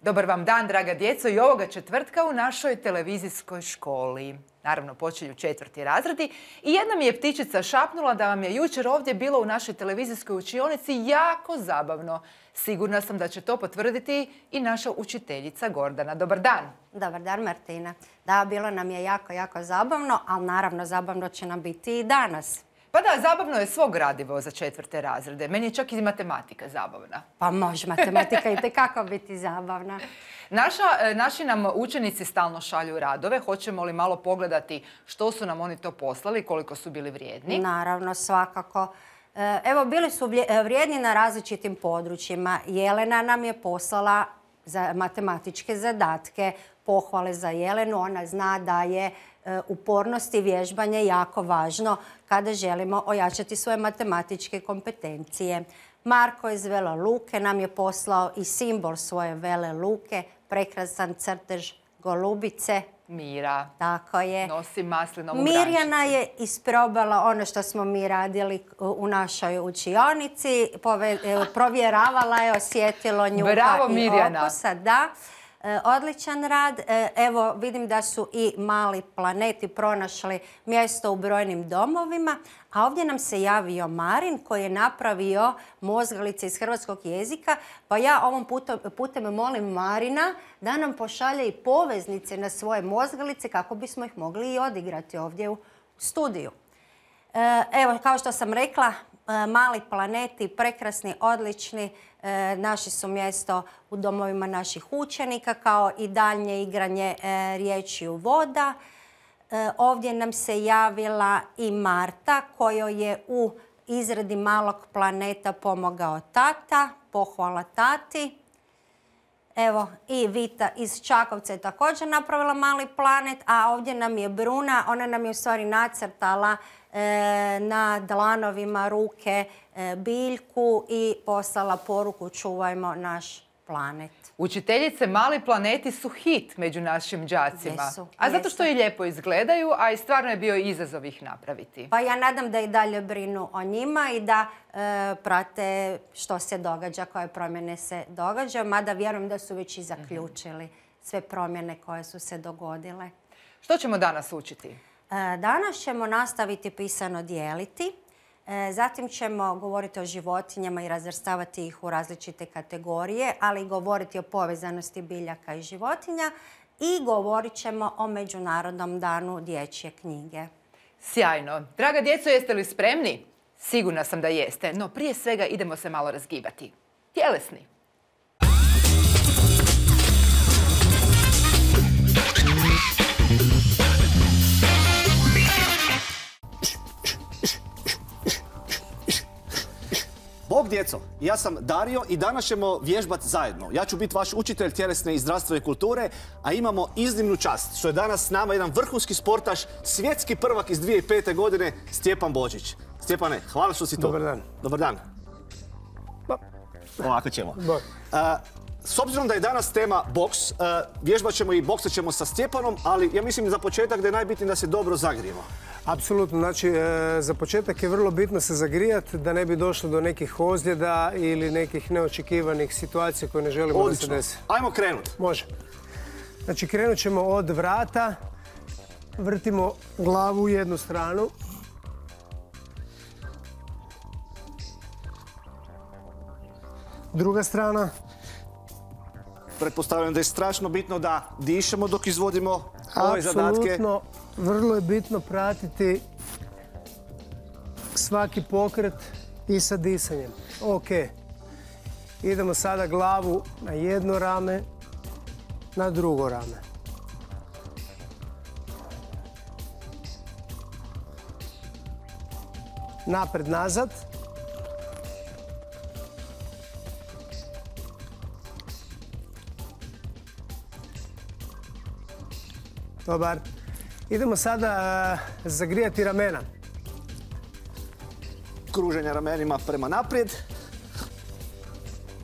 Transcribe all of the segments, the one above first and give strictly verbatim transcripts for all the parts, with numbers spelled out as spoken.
Dobar vam dan, draga djeco, i ovoga četvrtka u našoj televizijskoj školi. Naravno, počinju četvrti razredi i jedna mi je ptičica šapnula da vam je jučer ovdje bilo u našoj televizijskoj učionici jako zabavno. Sigurna sam da će to potvrditi i naša učiteljica Gordana. Dobar dan. Dobar dan, Martina. Da, bilo nam je jako, jako zabavno, ali naravno zabavno će nam biti i danas. Pa da, zabavno je svo gradivo za četvrte razrede. Meni je čak i matematika zabavna. Pa može matematika i tekako biti zabavna. Naša, naši nam učenici stalno šalju radove. Hoćemo li malo pogledati što su nam oni to poslali, koliko su bili vrijedni? Naravno, svakako. Evo, bili su vrijedni na različitim područjima. Jelena nam je poslala za matematičke zadatke, pohvale za Jelenu. Ona zna da je upornost i vježbanje jako važno kada želimo ojačati svoje matematičke kompetencije. Marko iz Vela Luke nam je poslao i simbol svoje Vele Luke, prekrasan crtež golubice. Mira. Tako je. Nosi maslinovu grančicu. Mirjana je isprobala ono što smo mi radili u našoj učionici. Provjeravala je osjetilo njuha Bravo, i Mirjana. okusa. Da. Odličan rad. Evo, vidim da su i mali planeti pronašli mjesto u brojnim domovima, a ovdje nam se javio Marin koji je napravio mozgalice iz hrvatskog jezika, pa ja ovom putem, putem molim Marina da nam pošalje i poveznice na svoje mozgalice kako bismo ih mogli i odigrati ovdje u studiju. Evo, kao što sam rekla, mali planeti, prekrasni, odlični, naši su mjesto u domovima naših učenika, kao i daljnje igranje riječju voda. Ovdje nam se javila i Marta, kojoj je u izradi malog planeta pomogao tata. Pohvala tati. Evo, i Vita iz Čakovca je također napravila mali planet, a ovdje nam je Bruna, ona nam je u stvari nacrtala e, na dlanovima ruke e, biljku i poslala poruku čuvajmo naš planet. Učiteljice, mali planeti su hit među našim đacima. Jesu, a zato jesu. što i lijepo izgledaju, a i stvarno je bio izazov ih napraviti. Pa ja nadam da i dalje brinu o njima i da e, prate što se događa, koje promjene se događaju, mada vjerujem da su već i zaključili sve promjene koje su se dogodile. Što ćemo danas učiti? E, danas ćemo nastaviti pisano dijeliti. Zatim ćemo govoriti o životinjama i razvrstavati ih u različite kategorije, ali i govoriti o povezanosti biljaka i životinja i govorit ćemo o Međunarodnom danu dječje knjige. Sjajno. Draga djeco, jeste li spremni? Sigurna sam da jeste, no prije svega idemo se malo razgibati. Tjelesni. Bog djeco, ja sam Dario i danas ćemo vježbati zajedno. Ja ću biti vaš učitelj tjelesne i zdravstvene kulture, a imamo iznimnu čast što je danas s nama jedan vrhunski sportaš, svjetski prvak iz dvije tisuće pete. godine, Stjepan Božić. Stjepane, hvala što si tu. Dobar dan. Dobar dan. Ba. Ovako ćemo. Ba. A, s obzirom da je danas tema boks, a, vježbat ćemo i boksat ćemo sa Stjepanom, ali ja mislim za početak da je najbitnije da se dobro zagrijemo. Apsolutno, znači za početak je vrlo bitno se zagrijati da ne bi došlo do nekih ozljeda ili nekih neočekivanih situacija koje ne želimo Odlično. da se desi. Ajmo krenuti. Može. Znači krenut ćemo od vrata, vrtimo glavu u jednu stranu. Druga strana. Pretpostavljam da je strašno bitno da dišemo dok izvodimo ove zadatke. Apsolutno, vrlo je bitno pratiti svaki pokret i sa disanjem. Ok. Idemo sada glavu na jedno rame, na drugo rame. Napred, nazad. Dobar. Idemo sada zagrijati ramena. Kruženja ramenima prema naprijed.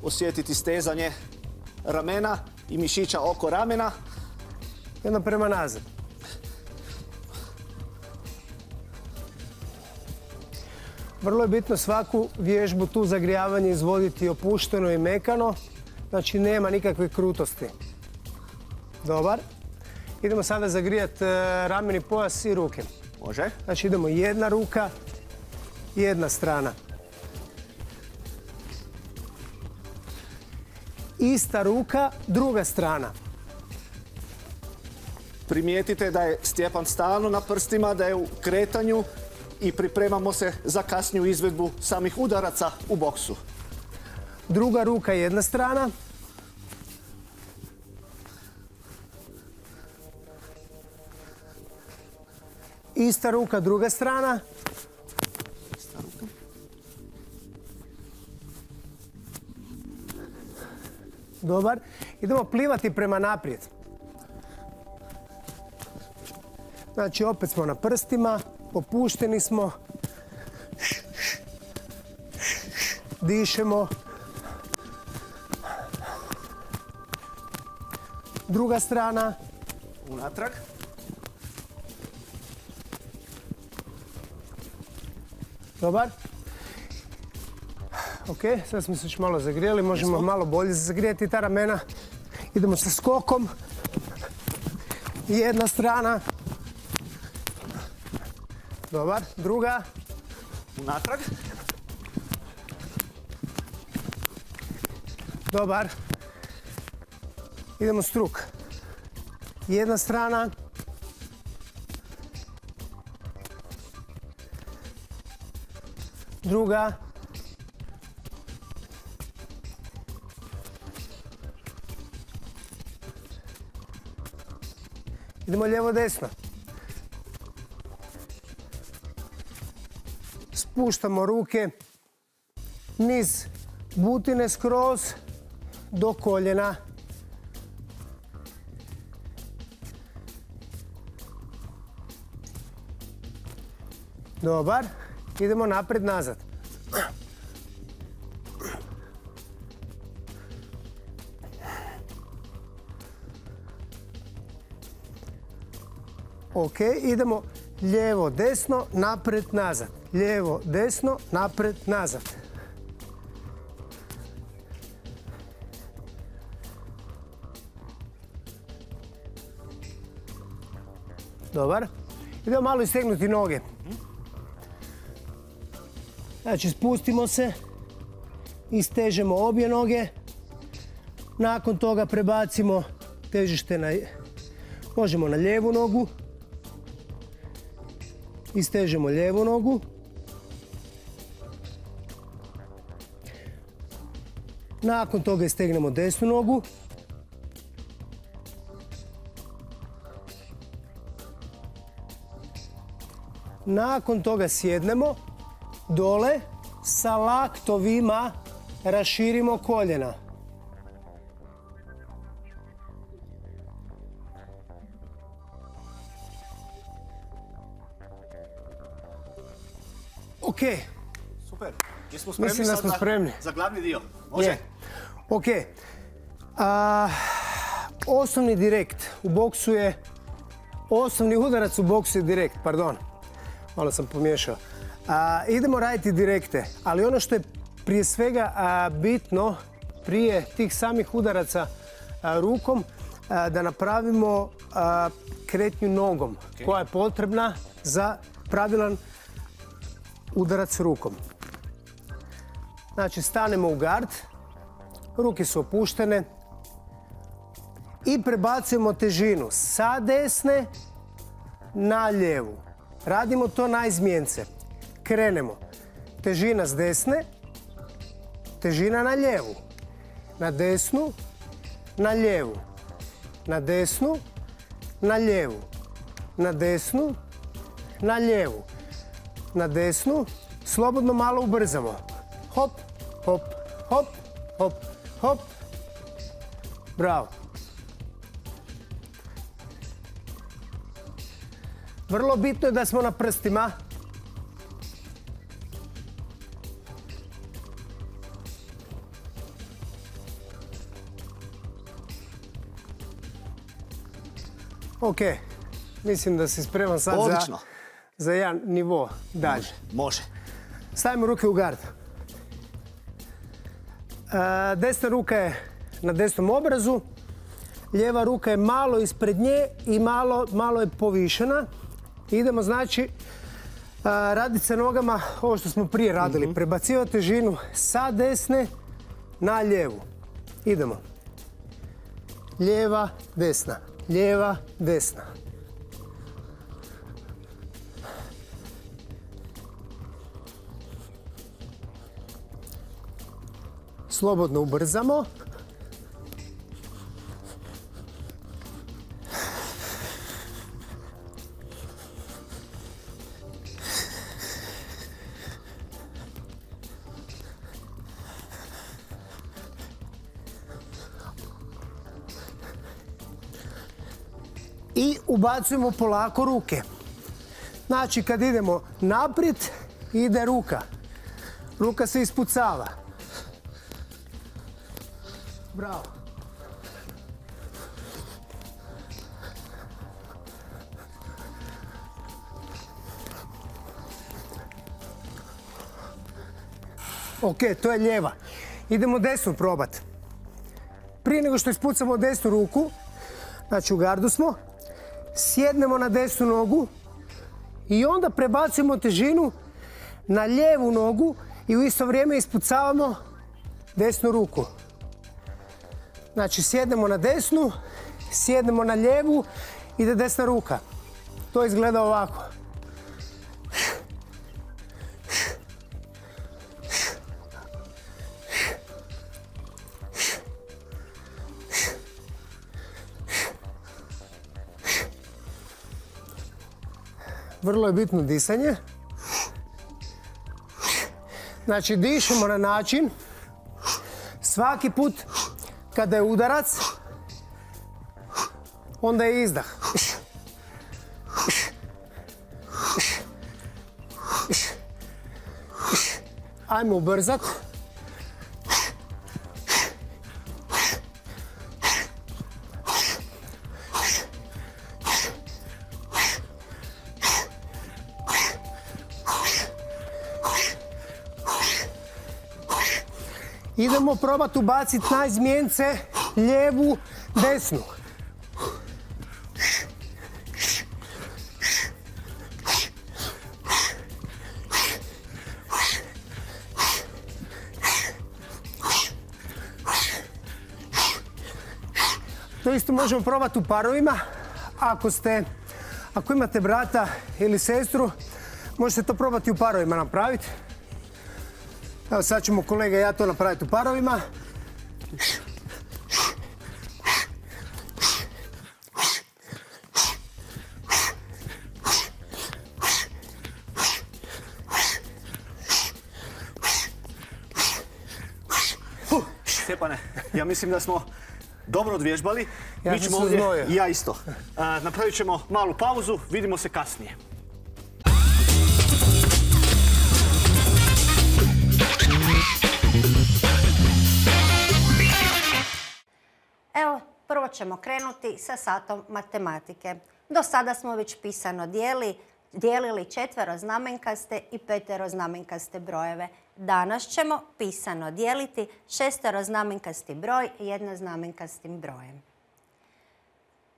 Osjetiti stezanje ramena i mišića oko ramena. Jedno prema nazad. Vrlo je bitno svaku vježbu tu zagrijavanje izvoditi opušteno i mekano. Znači nema nikakve krutosti. Dobar. Idemo sada zagrijati rameni pojas i ruke. Može. Znači idemo jedna ruka, jedna strana. Ista ruka, druga strana. Primijetite da je Stjepan stalno na prstima, da je u kretanju i pripremamo se za kasniju izvedbu samih udaraca u boksu. Druga ruka, jedna strana. Ista ruka, druga strana. Dobar. Idemo plivati prema naprijed. Znači, opet smo na prstima, popušteni smo. Dišemo. Druga strana. Unatrag. Dobar. Ok, sad smo se još malo zagrijeli, možemo malo bolje zagrijati ta ramena. Idemo sa skokom. Jedna strana. Dobar, druga. Unatrag. Dobar. Idemo struk. Jedna strana. Druga. Idemo lijevo desno. Spuštamo ruke niz butine skroz do koljena. Dobar. Idemo napred, nazad. Ok, idemo lijevo, desno, napred, nazad. Lijevo, desno, napred, nazad. Dobar. Idemo malo istegnuti noge. Znači, spustimo se, istežemo obje noge. Nakon toga prebacimo težište na, možemo na lijevu nogu. Istežemo lijevu nogu. Nakon toga istegnemo desnu nogu. Nakon toga sjednemo dole, sa laktovima raširimo koljena. Ok. Super. Jesmo spremni Mislim da smo sad spremni. za glavni dio? Može? Je. Ok. A, osnovni direkt u boksu je, osnovni udarac u boksu je direkt, pardon. Malo sam pomiješao. A, idemo raditi direkte, ali ono što je prije svega a, bitno prije tih samih udaraca a, rukom, a, da napravimo a, kretnju nogom, okay, koja je potrebna za pravilan udarac rukom. Znači, stanemo u gard, ruke su opuštene i prebacujemo težinu sa desne na lijevu. Radimo to na izmjence. Krenemo. Težina s desne, težina na lijevu. Na desnu, na lijevu. Na desnu, na lijevu. Na desnu, na lijevu. Na desnu, slobodno malo ubrzamo. Hop, hop, hop, hop, hop. Bravo. Vrlo bitno je da smo na prstima. Ok, mislim da si spreman sad za, za jedan nivo dalje. Može, može. Stavimo ruke u gard. E, desna ruka je na desnom obrazu. Lijeva ruka je malo ispred nje i malo, malo je povišena. Idemo znači raditi sa nogama ovo što smo prije radili. Mm-hmm. Prebacivati težinu sa desne na lijevu. Idemo. Lijeva, desna. Lijeva, desna. Slobodno ubrzamo. I ubacujemo polako ruke. Znači, kad idemo naprijed, ide ruka. Ruka se ispucava. Bravo. Ok, to je lijeva. Idemo desnu probati. Prije nego što ispucamo desnu ruku, znači u gardu smo, sjednemo na desnu nogu i onda prebacujemo težinu na lijevu nogu i u isto vrijeme ispucavamo desnu ruku. Znači sjednemo na desnu, sjednemo na lijevu, ide desna ruka. To izgleda ovako. Vrlo je bitno disanje. Znači dišemo na način svaki put kada je udarac, onda je izdah. Ajmo ubrzat. Idemo probati ubaciti na izmjence lijevu, desnu. To isto možemo probati u parovima. Ako ste, ako imate brata ili sestru, možete to probati u parovima napraviti. Evo sad ćemo kolega i ja to napraviti u parovima. Stjepane, ja mislim da smo dobro odvježbali. Ja Mi ćemo sam se ovdje, uznojio. i ja isto. A, napravit ćemo malu pauzu, vidimo se kasnije. Evo, prvo ćemo krenuti sa satom matematike. Do sada smo već pisano dijeli, dijelili četveroznamenkaste i peteroznamenkaste brojeve. Danas ćemo pisano dijeliti šesteroznamenkasti broj jednoznamenkastim brojem.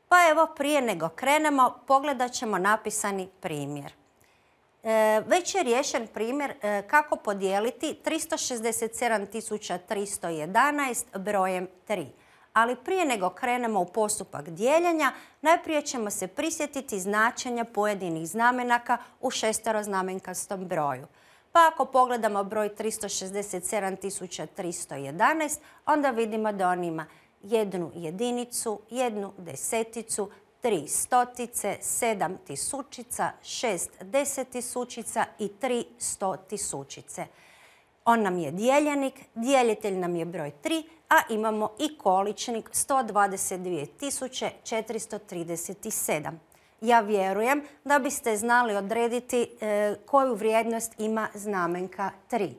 Pa evo, prije nego krenemo, pogledat ćemo napisani primjer. E, već je riješen primjer e, kako podijeliti tristo šezdeset sedam tisuća tristo jedanaest brojem tri. Ali prije nego krenemo u postupak dijeljenja, najprije ćemo se prisjetiti značenja pojedinih znamenaka u šesteroznamenkastom broju. Pa ako pogledamo broj tristo šezdeset sedam tisuća tristo jedanaest, onda vidimo da on ima jednu jedinicu, jednu deseticu, tri stotice, sedam tisućica, šest desetisućica i tri stotisućice. On nam je dijeljenik, dijelitelj nam je broj tri, a imamo i količnik sto dvadeset dvije tisuće četiristo trideset sedam. Ja vjerujem da biste znali odrediti e, koju vrijednost ima znamenka tri.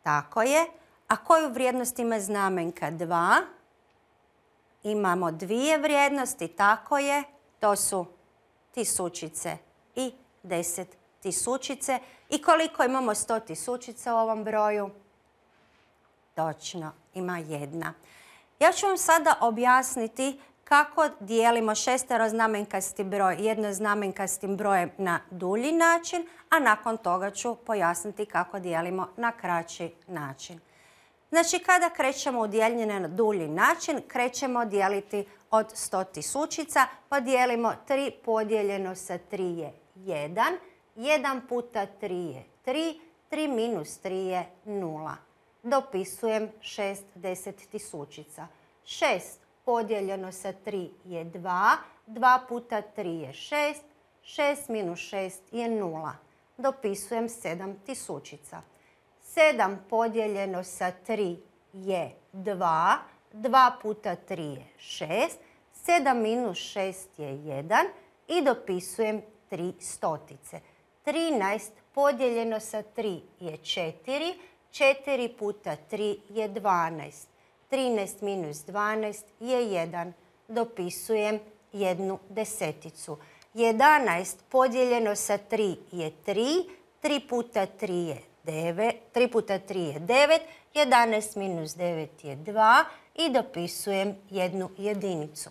Tako je. A koju vrijednost ima znamenka dva? Imamo dvije vrijednosti, tako je. To su tisućice i deset tisućice. I koliko imamo sto tisućica u ovom broju? Točno, ima jedna. Ja ću vam sada objasniti kako dijelimo šesteroznamenkasti broj jednoznamenkastim brojem na dulji način, a nakon toga ću pojasniti kako dijelimo na kraći način. Znači, kada krećemo u dijeljenje na dulji način, krećemo dijeliti od sto tisućica, pa dijelimo tri podijeljeno sa tri je jedan, jedan puta tri je tri, tri minus tri je nula. Dopisujem šest deset tisućica. šest podijeljeno sa tri je dva, dva puta tri je šest, šest minus šest je nula. Dopisujem sedam tisućica. sedam podijeljeno sa tri je dva, dva puta tri je šest, sedam minus šest je jedan i dopisujem tri stotice. trinaest podijeljeno sa tri je četiri, četiri puta tri je dvanaest. trinaest minus dvanaest je jedan. Dopisujem jednu deseticu. jedanaest podijeljeno sa tri je tri, tri puta tri je devet, tri puta tri je devet, jedanaest minus devet je dva i dopisujem jednu jedinicu.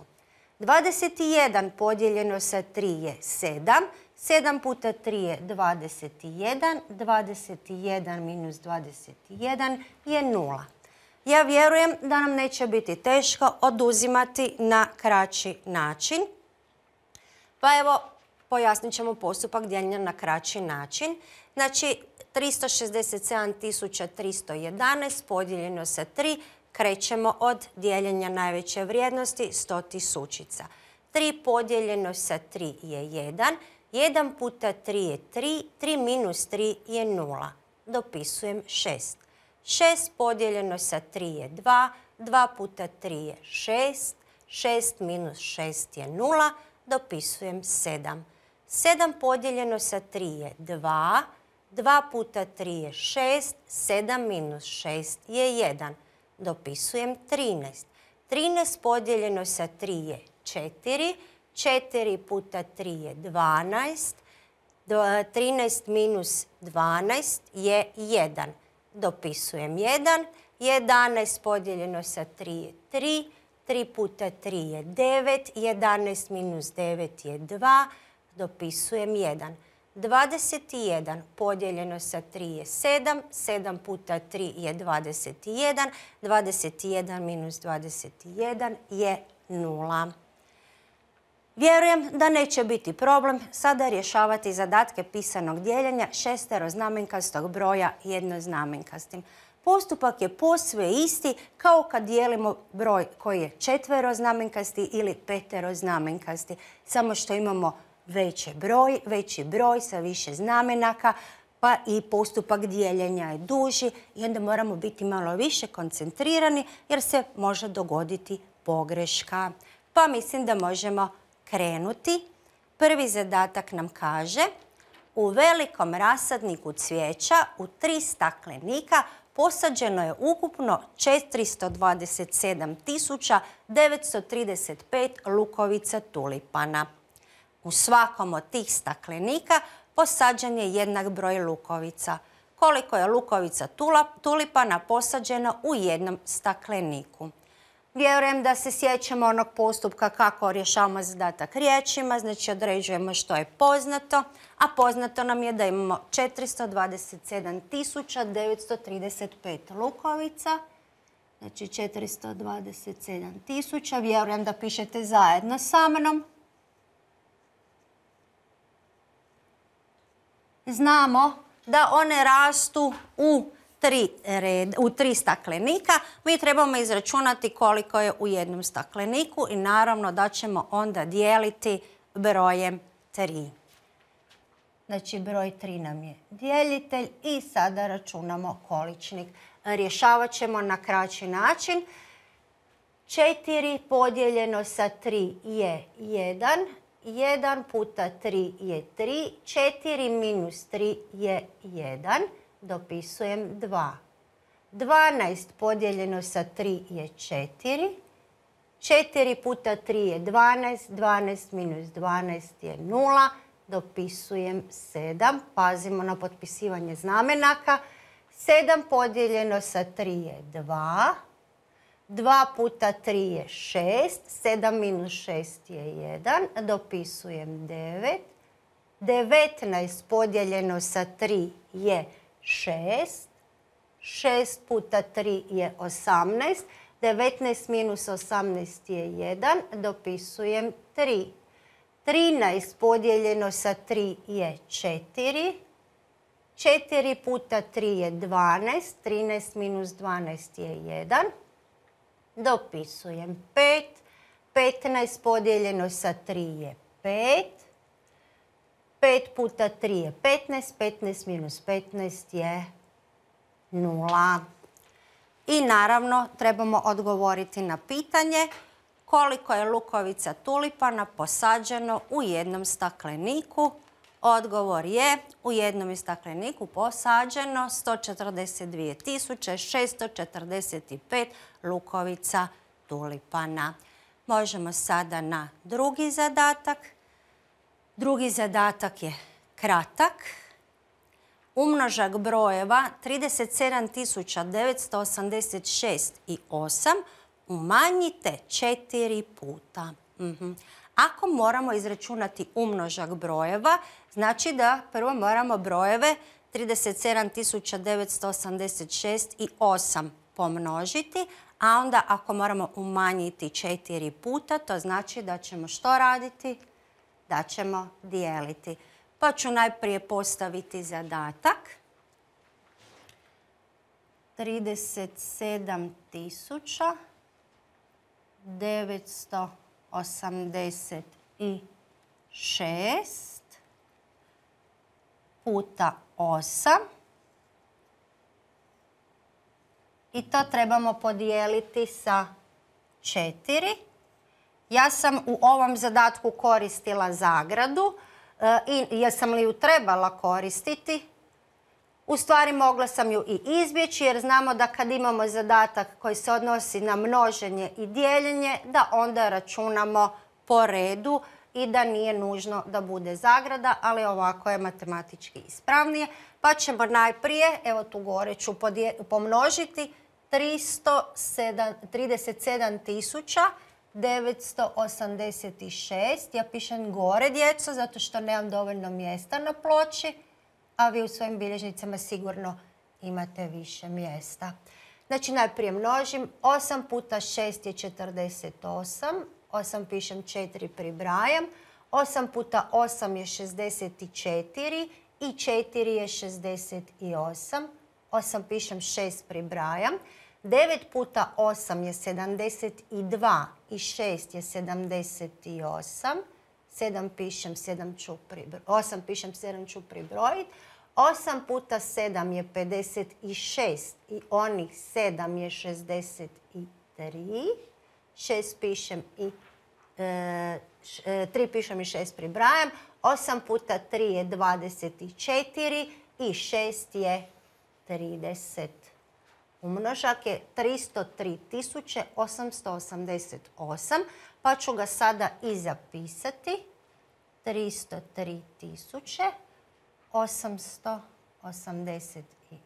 dvadeset jedan podijeljeno sa tri je sedam, sedam puta tri je dvadeset jedan, dvadeset jedan minus dvadeset jedan je nula. Ja vjerujem da nam neće biti teško oduzimati na kraći način. Pa evo, pojasnit ćemo postupak dijeljenja na kraći način. Znači, tristo šezdeset sedam tisuća tristo jedanaest podijeljeno sa tri, krećemo od dijeljenja najveće vrijednosti sto tisućica. tri podijeljeno sa tri je jedan, jedan puta tri je tri, tri minus tri je nula. Dopisujem šest. šest podijeljeno sa tri je dva, dva puta tri je šest, šest minus šest je nula, dopisujem sedam. sedam podijeljeno sa tri je dva, dva puta tri je šest, sedam minus šest je jedan. Dopisujem trinaest. trinaest podijeljeno sa tri je četiri, četiri puta tri je dvanaest, trinaest minus dvanaest je jedan. Dopisujem jedan. jedanaest podijeljeno sa tri je tri, tri puta tri je devet, jedanaest minus devet je dva, dopisujem jedan. dvadeset jedan podijeljeno sa tri je sedam, sedam puta tri je dvadeset jedan, dvadeset jedan minus dvadeset jedan je nula. Vjerujem da neće biti problem sada rješavati zadatke pisanog dijeljenja šesteroznamenkastog broja jednoznamenkastim. Postupak je posve isti kao kad dijelimo broj koji je četveroznamenkasti ili peteroznamenkasti, samo što imamo veći broj, veći broj sa više znamenaka, pa i postupak dijeljenja je duži i onda moramo biti malo više koncentrirani jer se može dogoditi pogreška. Pa mislim da možemo krenuti. Prvi zadatak nam kaže: u velikom rasadniku cvijeća u tri staklenika posađeno je ukupno četiristo dvadeset sedam tisuća devetsto trideset pet lukovica tulipana. U svakom od tih staklenika posađen je jednak broj lukovica. Koliko je lukovica tulipana posađeno u jednom stakleniku? Vjerujem da se sjećamo onog postupka kako rješavamo zadatak riječima, znači određujemo što je poznato, a poznato nam je da imamo četiristo dvadeset sedam tisuća devetsto trideset pet lukovica. Znači četiristo dvadeset sedam tisuća, vjerujem da pišete zajedno sa mnom. Znamo da one rastu u tri, red, u tri staklenika. Mi trebamo izračunati koliko je u jednom stakleniku i naravno da ćemo onda dijeliti brojem tri. Znači broj tri nam je djelitelj i sada računamo količnik. Rješavat ćemo na kraći način. četiri podijeljeno sa tri je jedan. jedan puta tri je tri. četiri minus tri je jedan. Dopisujem dva. dvanaest podijeljeno sa tri je četiri. četiri puta tri je dvanaest. dvanaest minus dvanaest je nula. Dopisujem sedam. Pazimo na potpisivanje znamenaka. sedam podijeljeno sa tri je dva. dva puta tri je šest, sedam minus šest je jedan, dopisujem devet. devetnaest podijeljeno sa tri je šest, šest puta tri je osamnaest, devetnaest minus osamnaest je jedan, dopisujem tri. trinaest podijeljeno sa tri je četiri, četiri puta tri je dvanaest, trinaest minus dvanaest je jedan, dopisujem pet, petnaest podijeljeno sa tri je pet, pet puta tri je petnaest, petnaest minus petnaest je nula. I naravno trebamo odgovoriti na pitanje koliko je lukovica tulipana posađeno u jednom stakleniku. Odgovor je u jednom je stakleniku posađeno sto četrdeset dvije tisuće šesto četrdeset pet lukovica tulipana. Možemo sada na drugi zadatak. Drugi zadatak je kratak. Umnožak brojeva trideset sedam tisuća devetsto osamdeset šest i osam umanjite četiri puta. Mhm. Ako moramo izračunati umnožak brojeva, znači da prvo moramo brojeve trideset sedam tisuća devetsto osamdeset šest i osam pomnožiti, a onda ako moramo umanjiti četiri puta, to znači da ćemo što raditi? Da ćemo dijeliti. Pa ću najprije postaviti zadatak. trideset sedam tisuća devetsto osamdeset šest puta osam. I to trebamo podijeliti sa četiri. Ja sam u ovom zadatku koristila zagradu i jesam li ju trebala koristiti? U stvari mogla sam ju i izbjeći jer znamo da kad imamo zadatak koji se odnosi na množenje i dijeljenje, da onda računamo po redu i da nije nužno da bude zagrada, ali ovako je matematički ispravnije. Pa ćemo najprije, evo tu gore ću pomnožiti trideset sedam tisuća devetsto osamdeset šest. Ja pišem gore, djeco, zato što nemam dovoljno mjesta na ploči, a vi u svojim bilježnicama sigurno imate više mjesta. Znači najprije množim. osam puta šest je četrdeset osam. osam pišem četiri pribrajam. osam puta osam je šezdeset četiri i četiri je šezdeset osam. osam pišem šest pribrajam. devet puta osam je sedamdeset dva i šest je sedamdeset osam. sedam pišem, sedam ću pribrojiti. osam pišem, sedam ću pribrojiti. osam puta sedam je pedeset šest i onih sedam je šezdeset tri. šest pišem i e, tri pišem i šest pribrajam. osam puta tri je dvadeset četiri i šest je trideset. Umnožak je tristo tri tisuće osamsto osamdeset osam, pa ću ga sada i zapisati. tristo tri tisuće osamsto osamdeset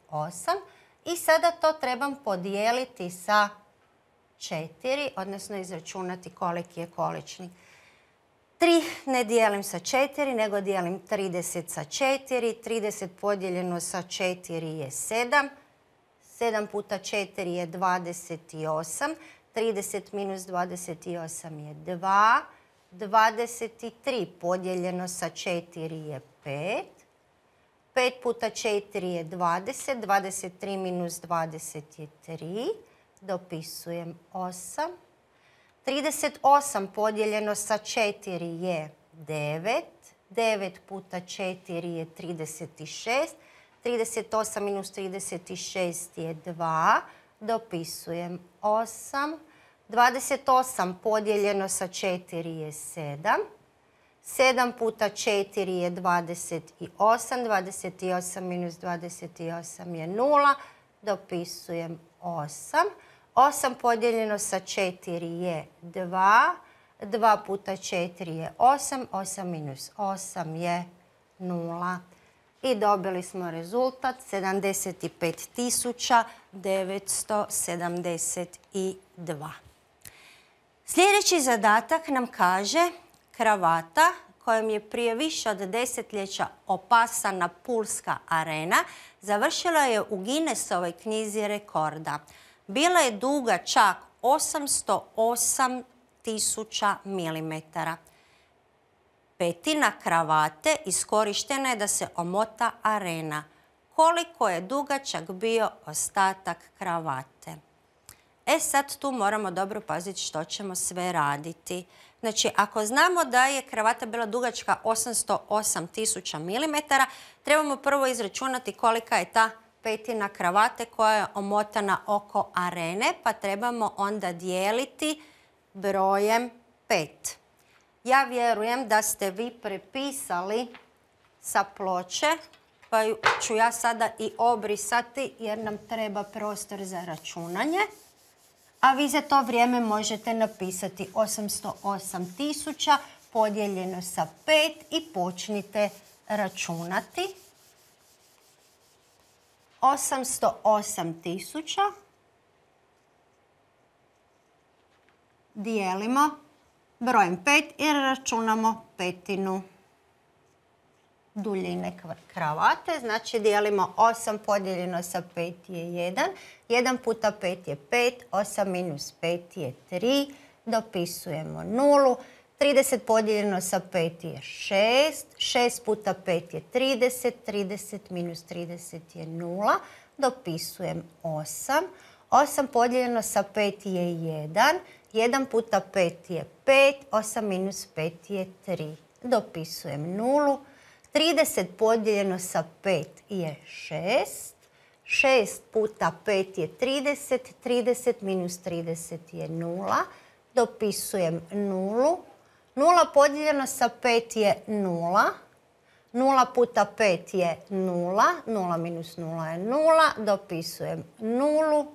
osam. I sada to trebam podijeliti sa četiri, odnosno izračunati koliki je količnik. tri ne dijelim sa četiri, nego dijelim trideset sa četiri. trideset podijeljeno sa četiri je sedam. sedam puta četiri je dvadeset osam. trideset minus dvadeset osam je dva. dvadeset tri podijeljeno sa četiri je pet. pet puta četiri je dvadeset. dvadeset tri minus dvadeset je tri. Dopisujem osam. trideset osam podijeljeno sa četiri je devet. devet puta četiri je trideset šest. trideset osam minus trideset šest je dva. Dopisujem osam. dvadeset osam podijeljeno sa četiri je sedam. sedam puta četiri je dvadeset osam. dvadeset osam minus dvadeset osam je nula. Dopisujem osam. osam podijeljeno sa četiri je dva. dva puta četiri je osam. osam minus osam je nula. i dobili smo rezultat sedamdeset pet tisuća devetsto sedamdeset dva. Sljedeći zadatak nam kaže kravata kojom je prije više od desetljeća opasana Pulska arena završila je u Guinnessovoj knjizi rekorda. Bila je duga čak osamsto osam tisuća milimetara. Petina kravate iskorištena je da se omota arena. Koliko je dugačak bio ostatak kravate? E sad tu moramo dobro paziti što ćemo sve raditi. Znači, ako znamo da je kravata bila dugačka osamsto osam tisuća milimetara, trebamo prvo izračunati kolika je ta petina kravate koja je omotana oko arene, pa trebamo onda dijeliti brojem pet. Ja vjerujem da ste vi prepisali sa ploče, pa ću ja sada i obrisati jer nam treba prostor za računanje. A vi za to vrijeme možete napisati osamsto osam tisuća podijeljeno sa pet i počnite računati. osamsto osam tisuća dijelimo brojem pet jer računamo petinu duljine kravate. Znači dijelimo osam podijeljeno sa pet je jedan. jedan puta pet je pet. osam minus pet je tri. Dopisujemo nulu. trideset podijeljeno sa pet je šest. šest puta pet je trideset. trideset minus trideset je nula. Dopisujem osam. osam podijeljeno sa pet je jedan. jedan puta pet je pet. osam minus pet je tri. Dopisujem nulu. trideset podijeljeno sa pet je šest. šest puta pet je trideset. trideset minus trideset je nula. Dopisujem nulu. nula podijeljeno sa pet je nula. nula puta pet je nula. nula minus nula je nula. Dopisujem nulu.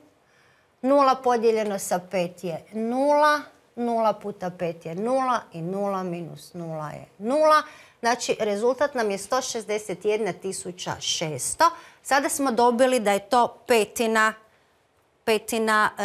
nula podijeljeno sa pet je nula. nula puta pet je nula i nula minus nula je nula. Znači, rezultat nam je sto šezdeset jedna tisuća šesto. Sada smo dobili da je to petina, petina e,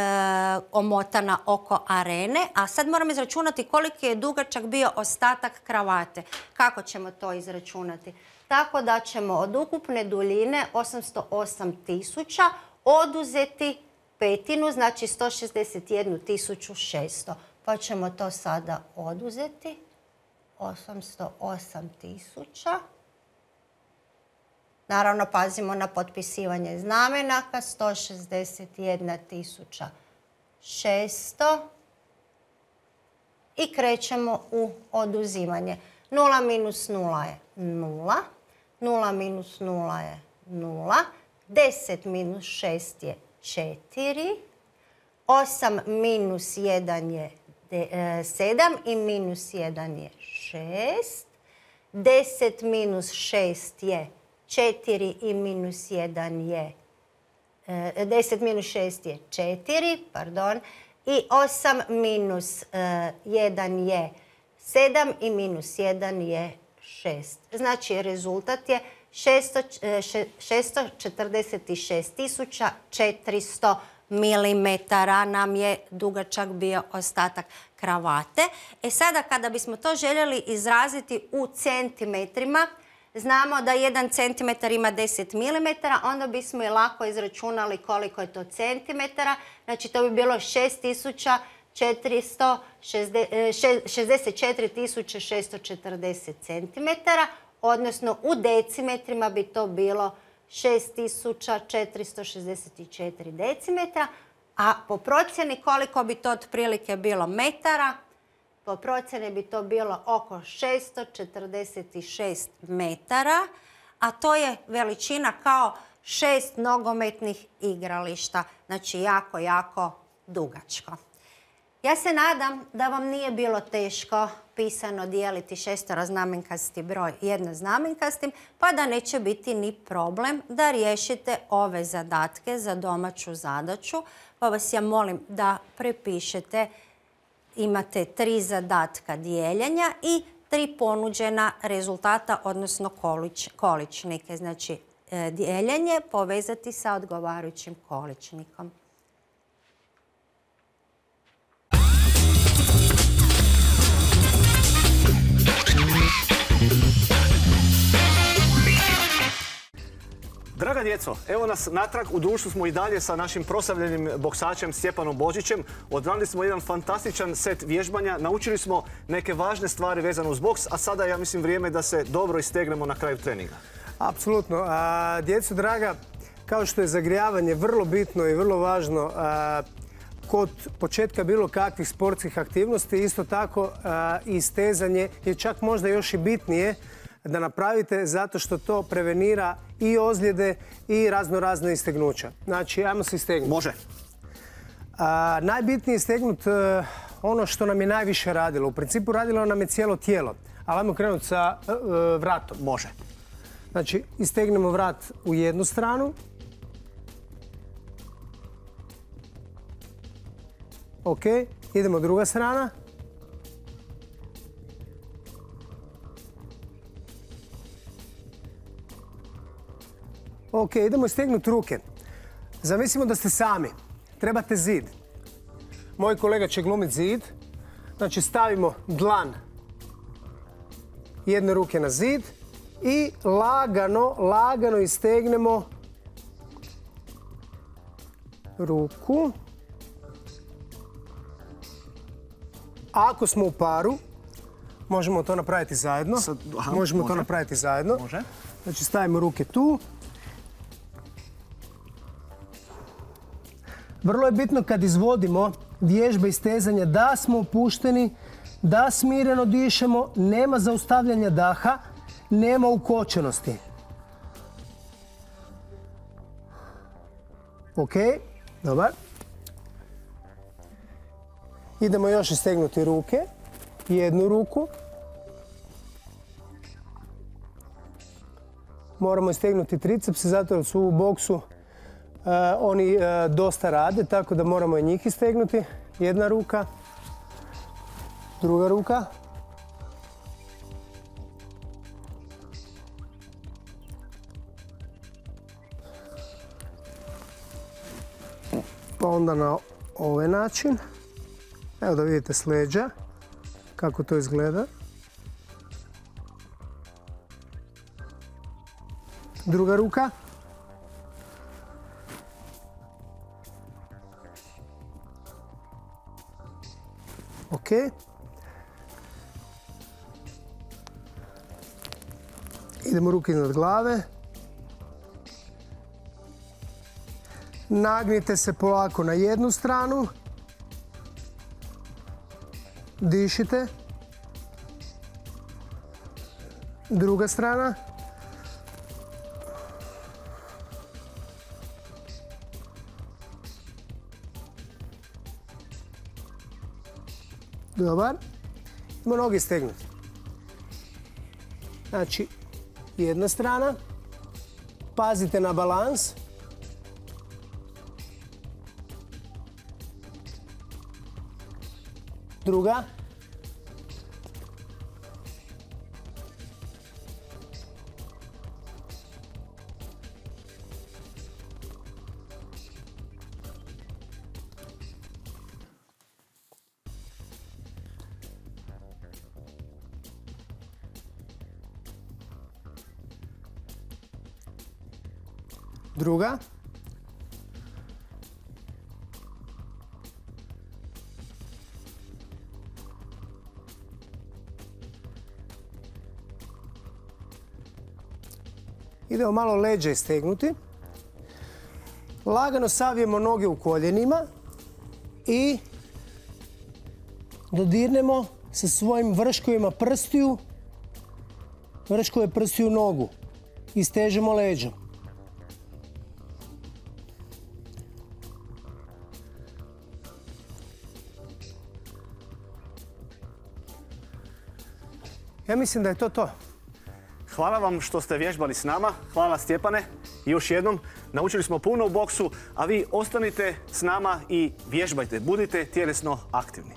omotana oko arene. A sad moramo izračunati koliki je dugačak bio ostatak kravate. Kako ćemo to izračunati? Tako da ćemo od ukupne duljine osamsto osam tisuća oduzeti petinu, znači sto šezdeset jedna tisuća šesto. Pa ćemo to sada oduzeti. osamsto osam tisuća. Naravno, pazimo na potpisivanje znamenaka. sto šezdeset jedna tisuća šesto. I krećemo u oduzimanje. nula minus nula je nula. nula minus nula je nula. deset minus šest je četiri. osam minus jedan je sedam i minus jedan je šest. deset minus šest je četiri i minus jedan je deset minus šest je četiri, pardon. I osam minus jedan je sedam i minus jedan je šest. Znači rezultat je šesto četrdeset šest tisuća četiristo milimetara nam je dugačak bio ostatak kravate. E sada kada bismo to željeli izraziti u centimetrima, znamo da jedan centimetar ima deset milimetara, onda bismo i lako izračunali koliko je to centimetara. Znači to bi bilo šest tisuća šezdeset četiri tisuće šesto četrdeset centimetara, odnosno u decimetrima bi to bilo šest tisuća četiristo šezdeset četiri decimetra, a po procjeni koliko bi to otprilike bilo metara, po procjeni bi to bilo oko šesto četrdeset šest metara, a to je veličina kao šest nogometnih igrališta. Znači jako, jako dugačko. Ja se nadam da vam nije bilo teško pisano dijeliti šesteroznamenkasti broj jednoznamenkastim, pa da neće biti ni problem da riješite ove zadatke za domaću zadaću. Pa vas ja molim da prepišete, imate tri zadatka dijeljenja i tri ponuđena rezultata, odnosno količnike. Znači, dijeljenje povezati sa odgovarajućim količnikom. Draga djeco, evo nas natrag, u društvu smo i dalje sa našim proslavljenim boksačem Stjepanom Božićem. Odradili smo jedan fantastičan set vježbanja, naučili smo neke važne stvari vezane uz boks, a sada ja mislim vrijeme da se dobro istegnemo na kraju treninga. Apsolutno. Djeco draga, kao što je zagrijavanje vrlo bitno i vrlo važno kod početka bilo kakvih sportskih aktivnosti, isto tako i stezanje je čak možda još i bitnije da napravite, zato što to prevenira i ozljede i razno razne istegnuća. Znači, ajmo se istegnuti. Može. A, najbitnije je istegnuti ono što nam je najviše radilo. U principu radilo nam je cijelo tijelo. Ali ajmo krenuti sa uh, vratom. Može. Znači, istegnemo vrat u jednu stranu. Ok, idemo druga strana. Ok, idemo istegnuti ruke. Zamislimo da ste sami. Trebate zid. Moj kolega će glumiti zid. Znači stavimo dlan jedne ruke na zid i lagano, lagano istegnemo ruku. Ako smo u paru, možemo to napraviti zajedno. Sad, aha, možemo može. to napraviti zajedno. Može. Znači stavimo ruke tu. Vrlo je bitno kad izvodimo vježbe i stezanja da smo opušteni, da smireno dišemo, nema zaustavljanja daha, nema ukočenosti. Ok, dobar. Idemo još istegnuti ruke, jednu ruku. Moramo istegnuti tricepse, zato jer su u boksu uh, oni uh, dosta rade, tako da moramo i njih istegnuti. Jedna ruka, druga ruka. Pa onda na ovaj način. Evo da vidite s leđa kako to izgleda. Druga ruka. Ok. Idemo ruke iznad glave. Nagnite se polako na jednu stranu. Dišite. Druga strana. Dobar. Idemo noge stegnuti. Znači, jedna strana. Pazite na balans. Druga. Druga. Idemo malo leđa istegnuti. Lagano savijemo noge u koljenima i dodirnemo sa svojim vrškovima prstiju, vrškove prstiju nogu. Istežemo leđom. Ja mislim da je to to. Hvala vam što ste vježbali s nama. Hvala Stjepane. I još jednom, naučili smo puno u boksu, a vi ostanite s nama i vježbajte. Budite tjelesno aktivni.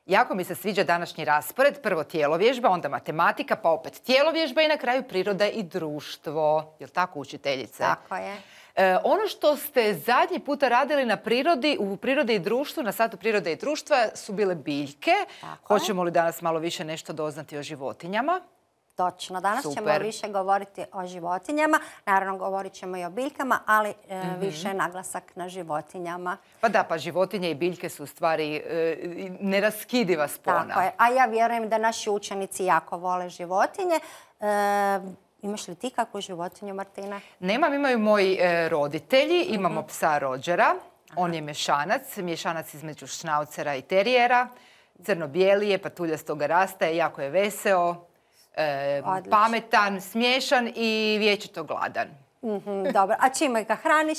Jako mi se sviđa današnji raspored. Prvo tjelovježba, onda matematika, pa opet tjelovježba i na kraju priroda i društvo. Jel' tako, učiteljice? Tako je. E, ono što ste zadnji puta radili na prirodi, u prirodi i društvu, na satu prirode i društva, su bile biljke. Tako je. Hoćemo li danas malo više nešto doznati o životinjama? Točno, danas Super. ćemo više govoriti o životinjama, naravno govorit ćemo i o biljkama, ali e, Mhm. više naglasak na životinjama. Pa da, pa životinje i biljke su u stvari e, neraskidiva spona. Tako je, a ja vjerujem da naši učenici jako vole životinje. E, imaš li ti kakvu životinju, Martina? Nemam, imaju moji e, roditelji, imamo psa Rodgera, on je mješanac, mješanac između šnaucera i terijera, crno-bijeli je, patuljastoga rasta, jako je veseo, e, Odlično. pametan, smiješan i vječito gladan. Mhm, dobro, a čime ga hraniš?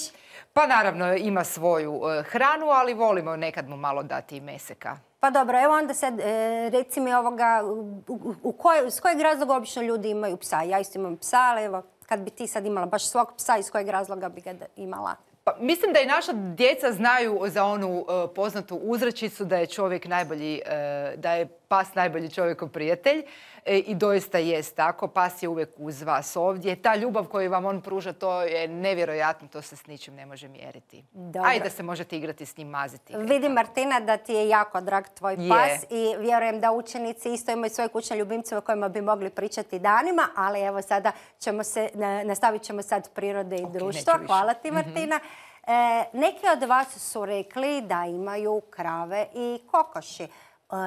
Pa naravno ima svoju e, hranu, ali volimo nekad mu malo dati i meseka. Pa dobro, evo onda sad e, reci mi ovoga, u, u, u koj, s kojeg razloga obično ljudi imaju psa? Ja isto imam psa, ali evo, kad bi ti sad imala baš svog psa, iz kojeg razloga bi ga da- imala? Pa, mislim da i naša djeca znaju za onu e, poznatu uzrečicu da je čovjek najbolji, e, da je pas najbolji čovjekov prijatelj e, i doista jest tako. Pas je uvijek uz vas ovdje. Ta ljubav koju vam on pruža, to je nevjerojatno, to se s ničim ne može mjeriti. Dobro. A i da se možete igrati s njim, maziti. igrati. Vidim, Martina, da ti je jako drag tvoj Je. pas i vjerujem da učenici isto imaju svoje kućne ljubimce o kojima bi mogli pričati danima, ali evo sada ćemo se, na- nastavit ćemo sad prirode i društvo. neću više. Hvala ti, Martina. E, neki od vas su rekli da imaju krave i kokoši. E,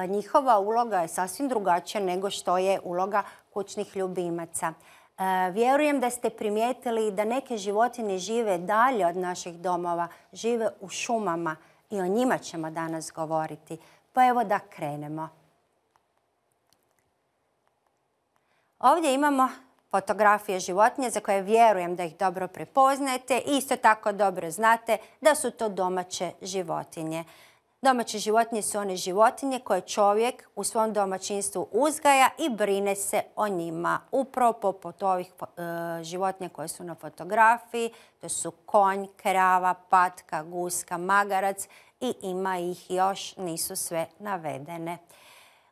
njihova uloga je sasvim drugačija nego što je uloga kućnih ljubimaca. E, vjerujem da ste primijetili da neke životinje žive dalje od naših domova, žive u šumama i o njima ćemo danas govoriti. Pa evo da krenemo. Ovdje imamo fotografije životinje za koje vjerujem da ih dobro prepoznajete i isto tako dobro znate da su to domaće životinje. Domaće životinje su one životinje koje čovjek u svom domaćinstvu uzgaja i brine se o njima. Upravo poput ovih e, životinja koje su na fotografiji, to su konj, krava, patka, guska, magarac i ima ih još, nisu sve navedene.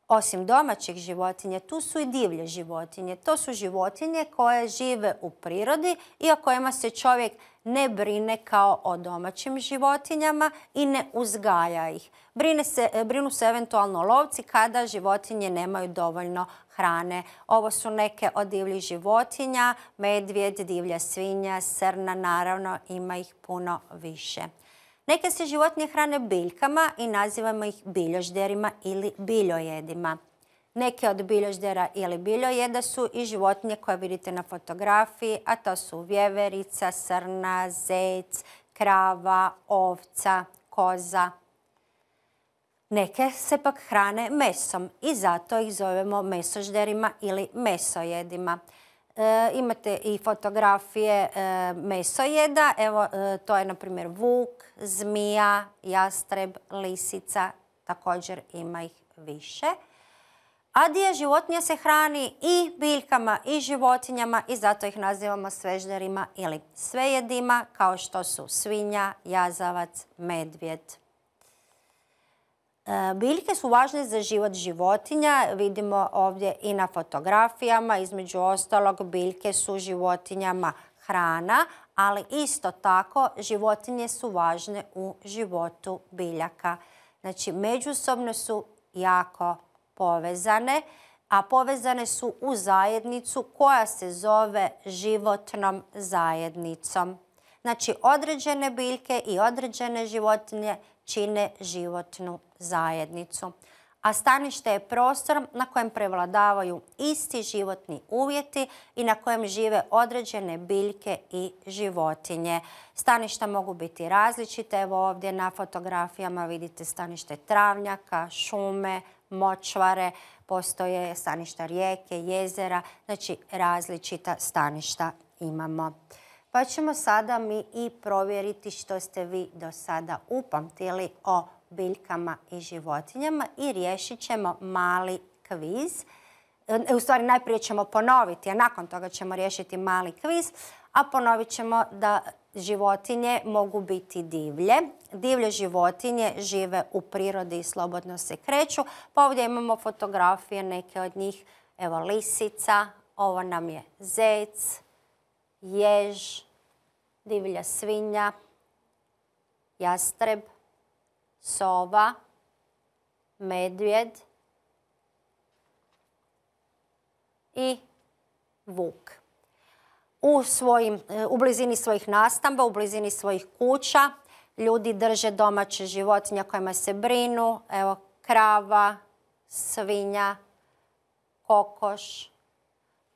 Osim domaćih životinja, tu su i divlje životinje. To su životinje koje žive u prirodi i o kojima se čovjek ne brine kao o domaćim životinjama i ne uzgaja ih. Brine se, brinu se eventualno lovci kada životinje nemaju dovoljno hrane. Ovo su neke od divljih životinja, medvjed, divlja svinja, srna, naravno ima ih puno više. Neke se životinje hrane biljkama i nazivamo ih biljožderima ili biljojedima. Neke od biljoždera ili biljojeda su i životinje koje vidite na fotografiji, a to su vjeverica, srna, zec, krava, ovca, koza. Neke se pak hrane mesom i zato ih zovemo mesožderima ili mesojedima. E, imate i fotografije e, mesojeda, evo e, to je na primjer vuk, zmija, jastreb, lisica, također ima ih više. A dio životinja se hrani i biljkama i životinjama i zato ih nazivamo svežderima ili svejedima, kao što su svinja, jazavac, medvjed. Biljke su važne za život životinja, vidimo ovdje i na fotografijama, između ostalog biljke su životinjama hrana, ali isto tako životinje su važne u životu biljaka. Znači međusobno su jako povezane, a povezane su u zajednicu koja se zove životnom zajednicom. Znači određene biljke i određene životinje čine životnu zajednicu. A stanište je prostor na kojem prevladavaju isti životni uvjeti i na kojem žive određene biljke i životinje. Staništa mogu biti različite. Evo ovdje na fotografijama vidite stanište travnjaka, šume, močvare, postoje staništa rijeke, jezera, znači različita staništa imamo. Pa ćemo sada mi i provjeriti što ste vi do sada upamtili o biljkama i životinjama i riješit ćemo mali kviz. U stvari najprije ćemo ponoviti, a nakon toga ćemo riješiti mali kviz, a ponovit ćemo da životinje mogu biti divlje. Divlje životinje žive u prirodi i slobodno se kreću. Pa ovdje imamo fotografije neke od njih. Evo lisica, ovo nam je zec, jež, divlja svinja, jastreb, sova, medvjed i vuk. U, svojim, u blizini svojih nastamba, u blizini svojih kuća ljudi drže domaće životinje kojima se brinu. Evo krava, svinja, kokoš,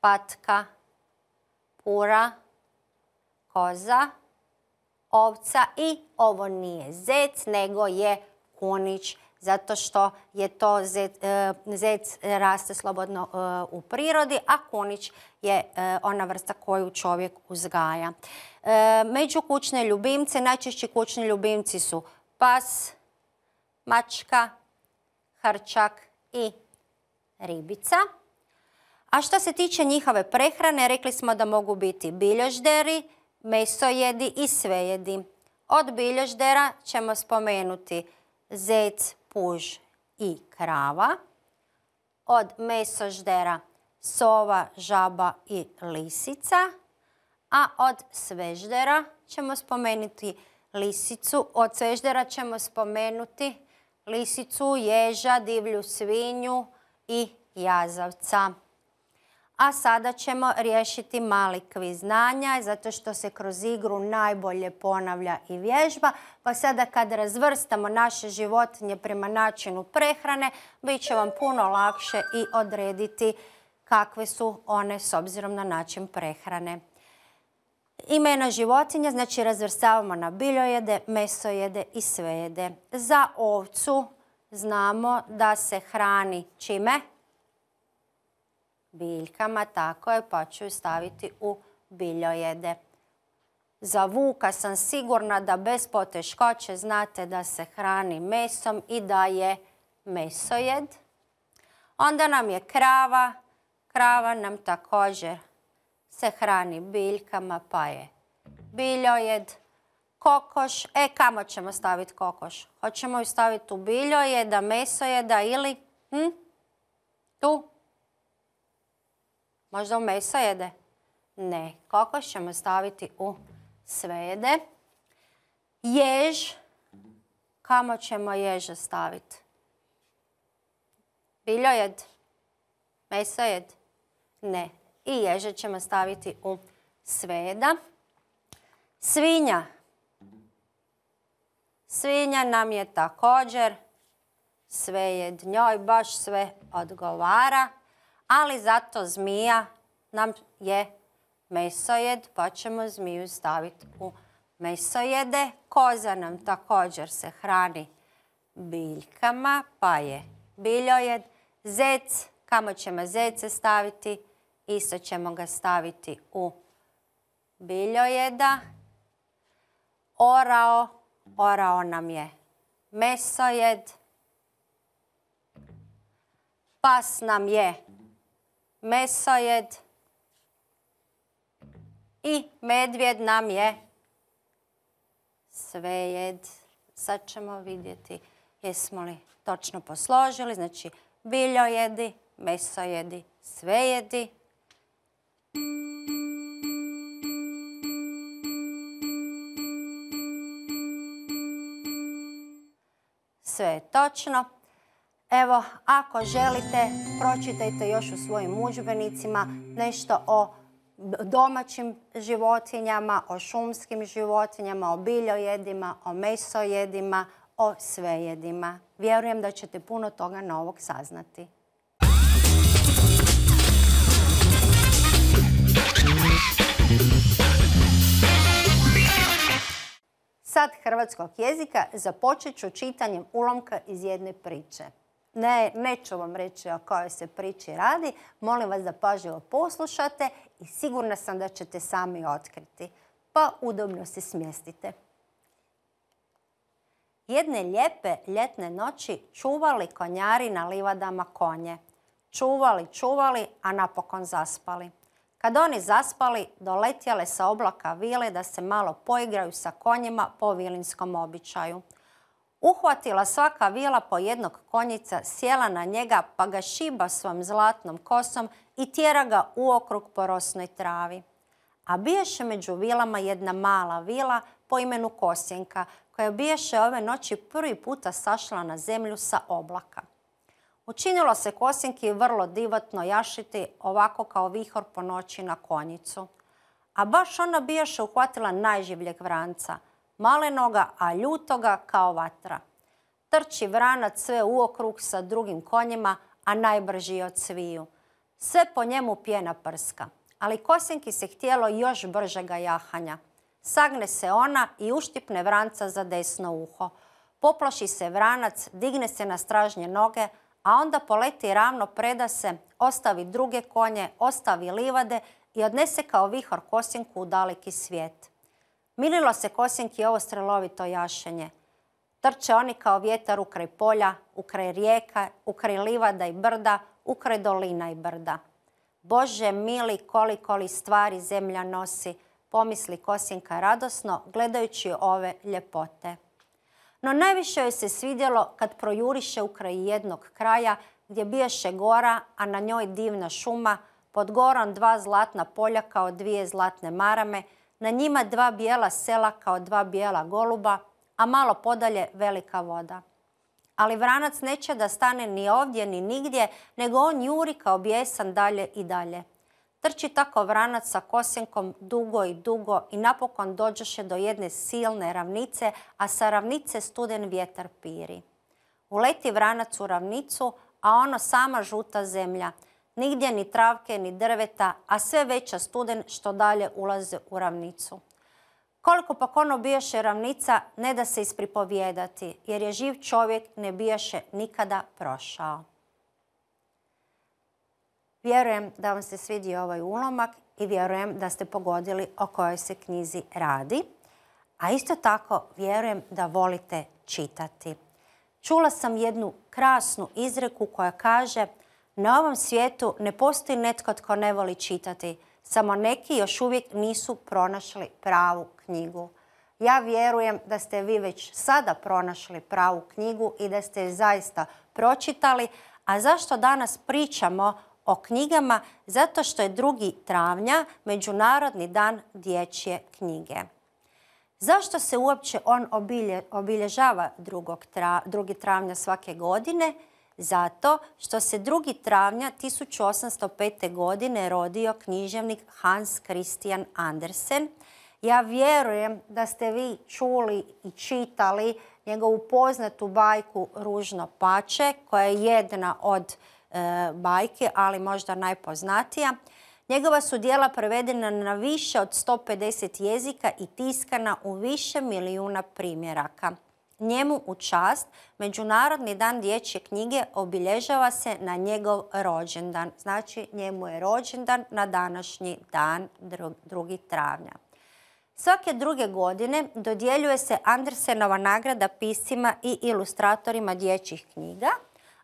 patka, pura, koza, ovca i ovo nije zec, nego je kunić, zato što je to zec, zec raste slobodno u prirodi, a kunić je ona vrsta koju čovjek uzgaja. Među kućne ljubimce, najčešći kućni ljubimci su pas, mačka, hrčak i ribica. A što se tiče njihove prehrane, rekli smo da mogu biti bilježderi, mesojedi i svejedi. Od bilježdera ćemo spomenuti zec, puž i krava. Od mesoždera sova, žaba i lisica. A od sveždera ćemo spomenuti lisicu. Od sveždera ćemo spomenuti lisicu, ježa, divlju svinju i jazavca. A sada ćemo riješiti mali kviz znanja, zato što se kroz igru najbolje ponavlja i vježba. Pa sada kad razvrstamo naše životinje prema načinu prehrane, bit će vam puno lakše i odrediti kakve su one s obzirom na način prehrane. Imena životinja, znači razvrstavamo na biljojede, mesojede i svejede. Za ovcu znamo da se hrani čime? Biljkama, tako je, pa ću ju staviti u biljojede. Za vuka sam sigurna da bez poteškoće znate da se hrani mesom i da je mesojed. Onda nam je krava. Krava nam također se hrani biljkama, pa je biljojed. Kokoš, e kamo ćemo staviti kokoš? Hoćemo ju staviti u biljojeda, mesojeda ili hm? tu? Možda u mesojede? Ne, kokoš ćemo staviti u svejede. Jež, kamo ćemo ježa staviti? Biljojed? Mesojed? Ne. I ježe ćemo staviti u svejeda. Svinja. Svinja nam je također svejed. Njoj baš sve odgovara. Ali zato zmija nam je mesojed, pa ćemo zmiju staviti u mesojede. Koza nam također se hrani biljkama, pa je biljojed. Zec, kamo ćemo zece staviti? Isto ćemo ga staviti u biljojeda. Orao, orao nam je mesojed. Pas nam je mesojed i medvjed nam je svejed. Sad ćemo vidjeti jesmo li točno posložili. Znači biljojedi, mesojedi, svejedi. Sve je točno. Evo, ako želite, pročitajte još u svojim udžbenicima nešto o domaćim životinjama, o šumskim životinjama, o biljojedima, o mesojedima, o svejedima. Vjerujem da ćete puno toga novog saznati. Sad hrvatskog jezika započet ću čitanjem ulomka iz jedne priče. Ne, neću vam reći o kojoj se priči radi, molim vas da pažljivo poslušate i sigurna sam da ćete sami otkriti. Pa udobno se smjestite. Jedne lijepe ljetne noći čuvali konjari na livadama konje. Čuvali, čuvali, a napokon zaspali. Kad oni zaspali, doletjele sa oblaka vile da se malo poigraju sa konjima po vilinskom običaju. Uhvatila svaka vila po jednog konjica, sjela na njega pa ga šiba svojom zlatnom kosom i tjera ga uokrug po rosnoj travi. A biješe među vilama jedna mala vila po imenu Kosjenka, koja biješe ove noći prvi puta sašla na zemlju sa oblaka. Učinilo se Kosjenki vrlo divotno jašiti ovako kao vihor po noći na konjicu. A baš ona biješe uhvatila najživljeg vranca, malenoga, a ljutoga kao vatra. Trči vranac sve uokrug sa drugim konjima, a najbrži od sviju. Sve po njemu pjena prska, ali Kosjenki se htjelo još bržega jahanja. Sagne se ona i uštipne vranca za desno uho. Poplaši se vranac, digne se na stražnje noge, a onda poleti ravno, preda se, ostavi druge konje, ostavi livade i odnese kao vihor Kosjenku u daleki svijet. Mililo se Kosjenki ovo strelovito jašenje. Trče oni kao vjetar ukraj polja, ukraj rijeka, ukraj livada i brda, ukraj dolina i brda. Bože mili, koliko li stvari zemlja nosi, pomisli Kosjenka radosno, gledajući ove ljepote. No najviše joj se svidjelo kad projuriše ukraj jednog kraja gdje biješe gora, a na njoj divna šuma, pod gorom dva zlatna polja kao dvije zlatne marame, na njima dva bijela sela kao dva bijela goluba, a malo podalje velika voda. Ali vranac neće da stane ni ovdje ni nigdje, nego on juri kao bijesan dalje i dalje. Trči tako vranac sa Kosjenkom dugo i dugo i napokon dođoše do jedne silne ravnice, a sa ravnice studen vjetar piri. Uleti vranac u ravnicu, a ono sama žuta zemlja. Nigdje ni travke ni drveta, a sve veća studen što dalje ulaze u ravnicu. Koliko pak ono bijaše ravnica, ne da se ispripovijedati, jer je živ čovjek ne bijaše nikada prošao. Vjerujem da vam se svidio ovaj ulomak i vjerujem da ste pogodili o kojoj se knjizi radi. A isto tako vjerujem da volite čitati. Čula sam jednu krasnu izreku koja kaže: na ovom svijetu ne postoji netko tko ne voli čitati, samo neki još uvijek nisu pronašli pravu knjigu. Ja vjerujem da ste vi već sada pronašli pravu knjigu i da ste je zaista pročitali. A zašto danas pričamo o knjigama? Zato što je drugi travnja Međunarodni dan dječje knjige. Zašto se uopće on obilje, obilježava drugi travnja svake godine? Zato što se drugi travnja tisuću osamsto pete. godine rodio književnik Hans Christian Andersen. Ja vjerujem da ste vi čuli i čitali njegovu poznatu bajku Ružno pače, koja je jedna od e, bajke, ali možda najpoznatija. Njegova su djela prevedena na više od sto pedeset jezika i tiskana u više milijuna primjeraka. Njemu u čast Međunarodni dan dječje knjige obilježava se na njegov rođendan. Znači, njemu je rođendan na današnji dan, drugi travnja. Svake druge godine dodjeljuje se Andersenova nagrada piscima i ilustratorima dječjih knjiga,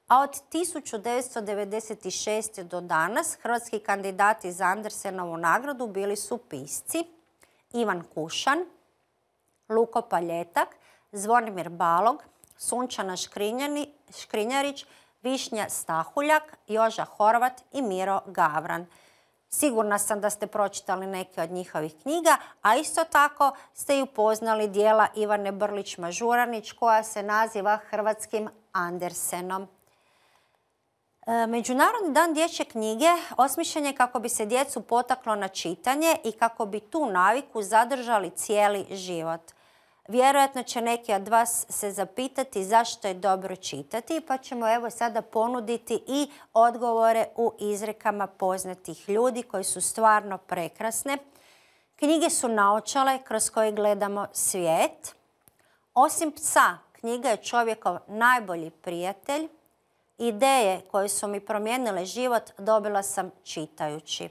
a od tisuću devetsto devedeset šeste. do danas hrvatski kandidati za Andersenovu nagradu bili su pisci Ivan Kušan, Luko Paljetak, Zvonimir Balog, Sunčana Škrinjarić, Višnja Stahuljak, Joža Horvat i Miro Gavran. Sigurna sam da ste pročitali neke od njihovih knjiga, a isto tako ste i upoznali dijela Ivane Brlić-Mažuranić koja se naziva Hrvatskim Andersenom. Međunarodni dan dječje knjige osmišljen je kako bi se djecu potaklo na čitanje i kako bi tu naviku zadržali cijeli život. Vjerojatno će neki od vas se zapitati zašto je dobro čitati, pa ćemo evo sada ponuditi i odgovore u izrekama poznatih ljudi koji su stvarno prekrasne. Knjige su naočale kroz koje gledamo svijet. Osim psa, knjiga je čovjekov najbolji prijatelj. Ideje koje su mi promijenile život dobila sam čitajući.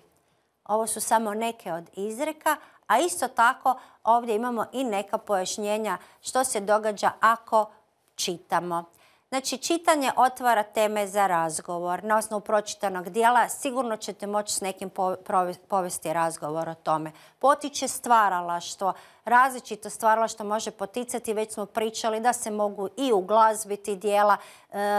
Ovo su samo neke od izreka, a isto tako ovdje imamo i neka pojašnjenja što se događa ako čitamo. Znači, čitanje otvara teme za razgovor. Na osnovu pročitanog dijela sigurno ćete moći s nekim povesti razgovor o tome. Potiče stvaralaštvo. Različito stvaralaštvo može poticati. Već smo pričali da se mogu i uglazbiti dijela,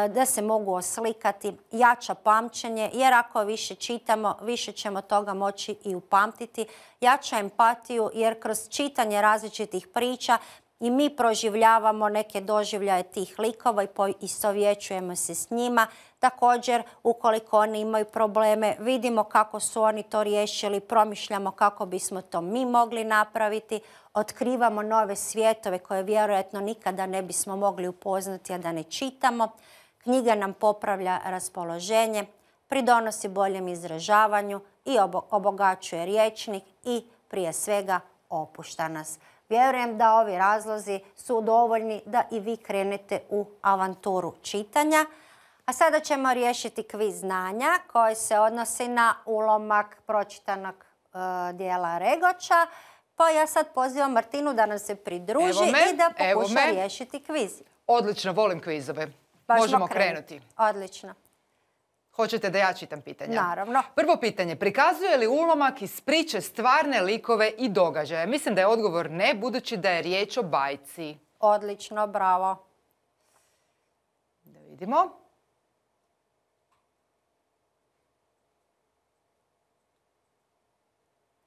da se mogu oslikati. Jača pamćenje, jer ako više čitamo, više ćemo toga moći i upamtiti. Jača empatiju, jer kroz čitanje različitih priča i mi proživljavamo neke doživljaje tih likova i poistovjećujemo se s njima. Također, ukoliko oni imaju probleme, vidimo kako su oni to riješili, promišljamo kako bismo to mi mogli napraviti, otkrivamo nove svijetove koje vjerojatno nikada ne bismo mogli upoznati, a da ne čitamo. Knjiga nam popravlja raspoloženje, pridonosi boljem izražavanju i obogaćuje rječnik i prije svega opušta nas. Vjerujem da ovi razlozi su dovoljni da i vi krenete u avanturu čitanja. A sada ćemo riješiti kviz znanja koji se odnosi na ulomak pročitanog e, dijela Regoča. Pa ja sad pozivam Martinu da nam se pridruži i da pokuša riješiti kviz. Odlično, volim kvizove. Možemo krenuti. Odlično. Hoćete da ja čitam pitanja? Naravno. Prvo pitanje. Prikazuje li ulomak iz priče stvarne likove i događaje? Mislim da je odgovor ne, budući da je riječ o bajci. Odlično, bravo. Da vidimo.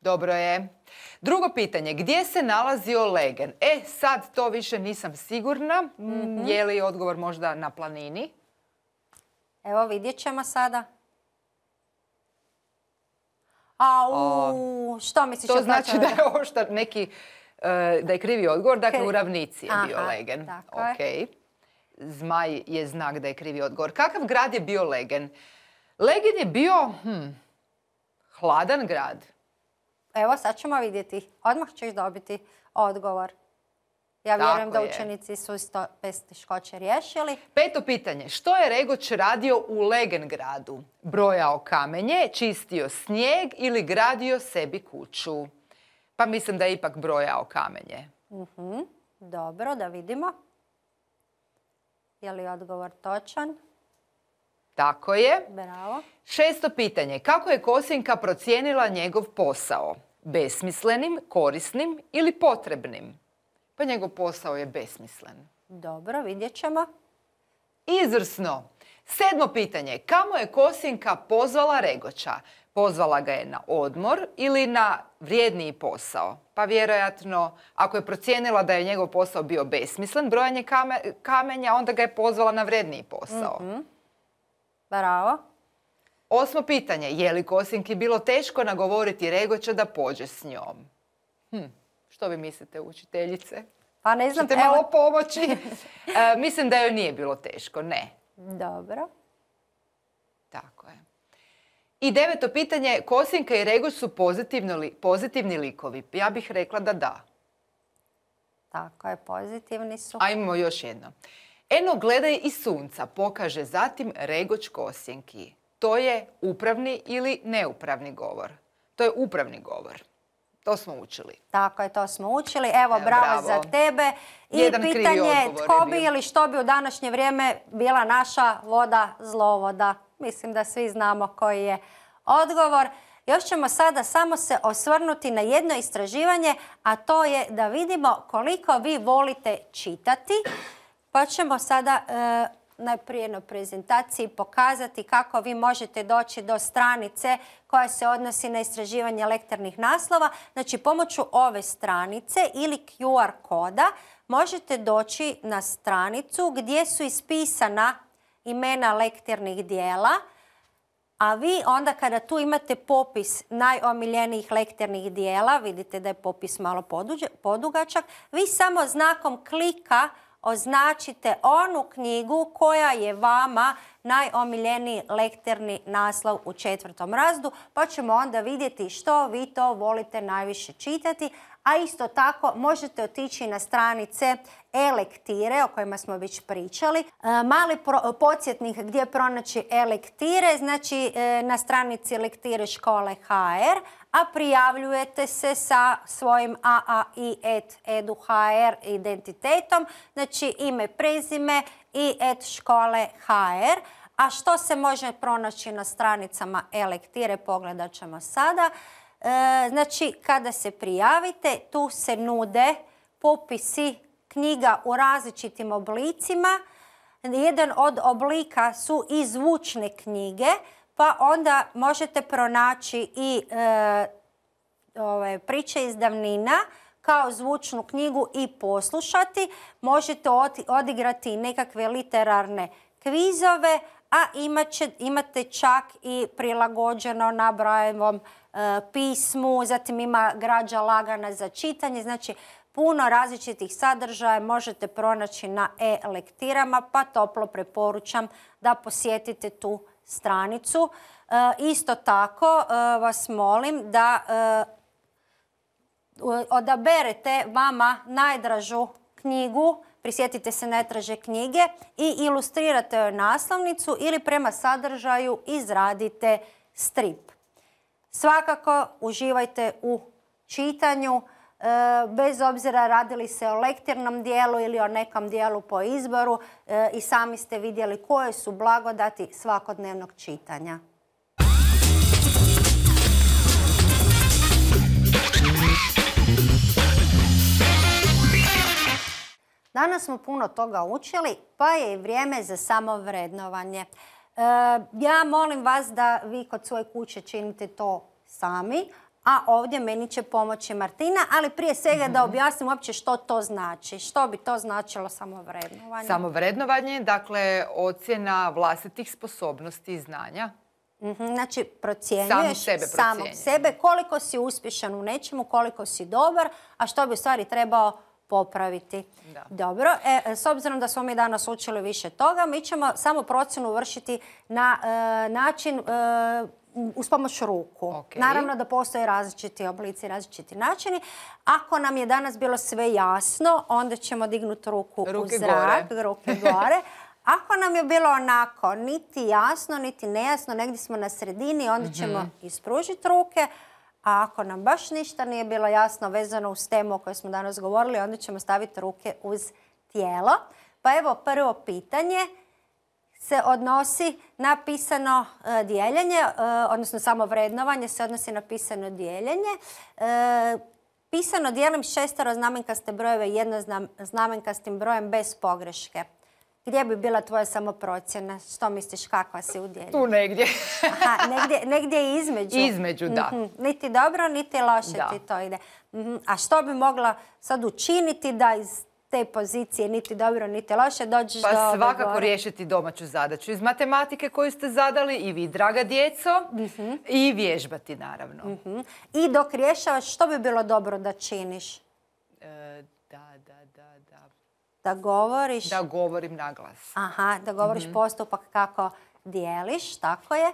Dobro je. Drugo pitanje. Gdje se nalazio Legen? E, sad to više nisam sigurna. Mm-hmm. Je li odgovor možda na planini? Evo, vidjet ćemo sada. Au, što misliš? To znači da je ovo što neki, da je krivi odgovor. Dakle, u ravnici je bio Legen. Ok. Zmaj je znak da je krivi odgovor. Kakav grad je bio Legen? Legen je bio hm, hladan grad. Evo, sad ćemo vidjeti. Odmah ćeš dobiti odgovor. Ja vjerujem da učenici su isto bez teškoće riješili. Peto pitanje. Što je Regoč radio u Legengradu? Brojao kamenje, čistio snijeg ili gradio sebi kuću? Pa mislim da je ipak brojao kamenje. Uh-huh. Dobro, da vidimo. Je li odgovor točan? Tako je. Bravo. Šesto pitanje. Kako je Kosinka procijenila njegov posao? Besmislenim, korisnim ili potrebnim? Pa njegov posao je besmislen. Dobro, vidjet ćemo. Izvrsno. Sedmo pitanje. Kamo je Kosinka pozvala Regoča? Pozvala ga je na odmor ili na vrijedniji posao? Pa vjerojatno, ako je procijenila da je njegov posao bio besmislen, brojanje kamenja, onda ga je pozvala na vrijedniji posao. Mm-hmm. Bravo. Osmo pitanje. Je li Kosinki bilo teško nagovoriti Regoča da pođe s njom? Hm. Što vi mislite, učiteljice? Pa ne znam. Ćete malo evo... pomoći? e, mislim da joj nije bilo teško, ne. Dobro. Tako je. I deveto pitanje, Kosinka i Regoč su li, pozitivni likovi? Ja bih rekla da da. Tako je, pozitivni su. A imamo još jedno. Eno, gledaj iz sunca, pokaže zatim Regoč Kosinki. To je upravni ili neupravni govor? To je upravni govor. To smo učili. Tako je, to smo učili. Evo, bravo, bravo za tebe. I jedan pitanje, tko bi ili što bi u današnje vrijeme bila naša voda zlovoda? Mislim da svi znamo koji je odgovor. Još ćemo sada samo se osvrnuti na jedno istraživanje, a to je da vidimo koliko vi volite čitati. Pa ćemo sada e, najprije na prezentaciji pokazati kako vi možete doći do stranice koja se odnosi na istraživanje lektornih naslova. Znači, pomoću ove stranice ili Q R koda možete doći na stranicu gdje su ispisana imena lektornih dijela, a vi onda kada tu imate popis najomiljenijih lektornih dijela, vidite da je popis malo podugačak, vi samo znakom klika označite onu knjigu koja je vama najomiljeniji lektorni naslov u četvrtom razredu, pa ćemo onda vidjeti što vi to volite najviše čitati, a isto tako možete otići na stranice e-lektire o kojima smo već pričali. E, mali pro, podsjetnik gdje pronaći e-lektire, znači e, na stranici Lektire škole ha er, a prijavljujete se sa svojim a a i et edu ha er identitetom, znači ime, prezime i et škole ha er. A što se može pronaći na stranicama e-lektire, pogledat ćemo sada. E, znači, kada se prijavite, tu se nude popisi knjiga u različitim oblicima. Jedan od oblika su i zvučne knjige, pa onda možete pronaći i e, ove, priče iz davnina kao zvučnu knjigu i poslušati. Možete odigrati nekakve literarne kvizove, a imat će, imate čak i prilagođeno na Brailleovom e, pismu, zatim ima građa lagana za čitanje, znači puno različitih sadržaja možete pronaći na e-lektirama, pa toplo preporučam da posjetite tu stranicu. E, isto tako e, vas molim da e, odaberete vama najdražu knjigu, prisjetite se najdraže knjige i ilustrirate joj naslovnicu ili prema sadržaju izradite strip. Svakako uživajte u čitanju, e, bez obzira radili se o lektirnom dijelu ili o nekom dijelu po izboru, e, i sami ste vidjeli koje su blagodati svakodnevnog čitanja. Danas smo puno toga učili, pa je i vrijeme za samovrednovanje. E, ja molim vas da vi kod svoje kuće činite to sami, a ovdje meni će pomoći Martina, ali prije svega da objasnim uopće što to znači. Što bi to značilo samovrednovanje? Samovrednovanje, dakle, ocjena vlastitih sposobnosti i znanja. Znači, procjenjuješ sebe samog sebe, koliko si uspješan u nečemu, koliko si dobar, a što bi u stvari trebao popraviti. Da. Dobro, e, s obzirom da smo mi danas učili više toga, mi ćemo samo procjenu vršiti na e, način e, uz pomoć ruku. Okay. Naravno da postoje različiti oblici, različiti načini. Ako nam je danas bilo sve jasno, onda ćemo dignuti ruku ruke u zrak, gore. ruke gore. Ako nam je bilo onako niti jasno, niti nejasno, negdje smo na sredini, onda ćemo mm-hmm. ispružiti ruke. A ako nam baš ništa nije bilo jasno vezano uz temu o kojoj smo danas govorili, onda ćemo staviti ruke uz tijelo. Pa evo, prvo pitanje se odnosi na pisano e, dijeljenje, e, odnosno samo vrednovanje se odnosi na pisano dijeljenje. E, pisano dijelim šesteroznamenkaste brojeve jednoznamenkastim brojem bez pogreške. Gdje bi bila tvoja samoprocjena? Što misliš, kakva si u dijeljenju? Tu negdje. Aha, negdje, negdje između. Između, da. Mm-hmm. Niti dobro, niti loše da. ti to ide. Mm-hmm. A što bi mogla sad učiniti da iz te pozicije niti dobro, niti loše dođeš pa do... Pa svakako gore. riješiti domaću zadaću iz matematike koju ste zadali i vi, draga djeco, mm-hmm. i vježbati, naravno. Mm-hmm. I dok rješavaš, što bi bilo dobro da činiš? E, da, da, da, da. Da govoriš? Da govorim na glas. Aha, da govoriš mm-hmm. postupak kako dijeliš, tako je. E,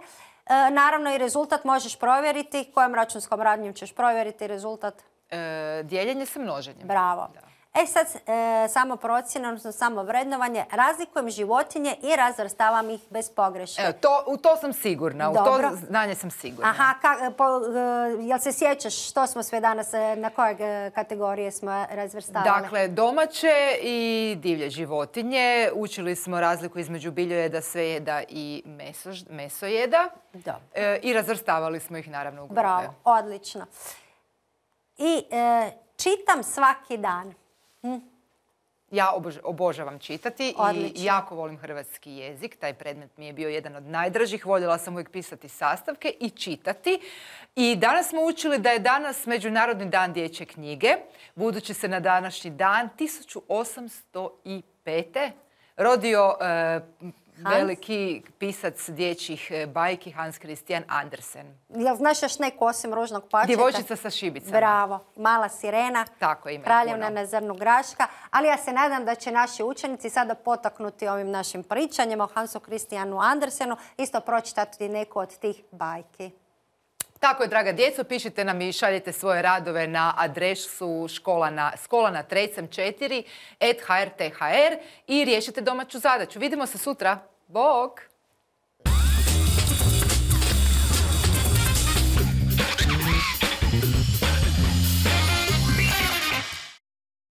naravno i rezultat možeš provjeriti. Kojom računskom radnjom ćeš provjeriti rezultat? E, dijeljenje sa množenjem. Bravo. Da. E sad, e, samo procjena, odnosno samo vrednovanje. Razlikujem životinje i razvrstavam ih bez pogreške. Evo, to, u to sam sigurna. Dobro. U to znanje sam sigurna. Aha, ka, po, jel se sjećaš što smo sve danas, na koje kategorije smo razvrstavali? Dakle, domaće i divlje životinje. Učili smo razliku između biljojeda, svejeda i meso, mesojeda. E, I razvrstavali smo ih naravno u grupe. Bravo, odlično. I e, čitam svaki dan. Hm? Ja obož, obožavam čitati. Odlično. I jako volim hrvatski jezik. Taj predmet mi je bio jedan od najdražih. Voljela sam uvijek pisati sastavke i čitati. I danas smo učili da je danas Međunarodni dan dječje knjige. Budući se na današnji dan tisuću osamsto pete rodio e, veliki pisac dječjih bajki Hans Christian Andersen. Jel znaš još neku osim Ružnog pačeta? Djevojčica sa šibicama. Bravo. Mala sirena. Tako, ima Kraljevna puno. na zrnu graška. Ali ja se nadam da će naši učenici sada potaknuti ovim našim pričanjem o Hansu Christianu Andersenu isto pročitati neku od tih bajki. Tako je, draga djeco, pišite nam i šaljite svoje radove na adresu škola na, škola na Trecem četiri at h r t h r i riješite domaću zadaću. Vidimo se sutra. Bog!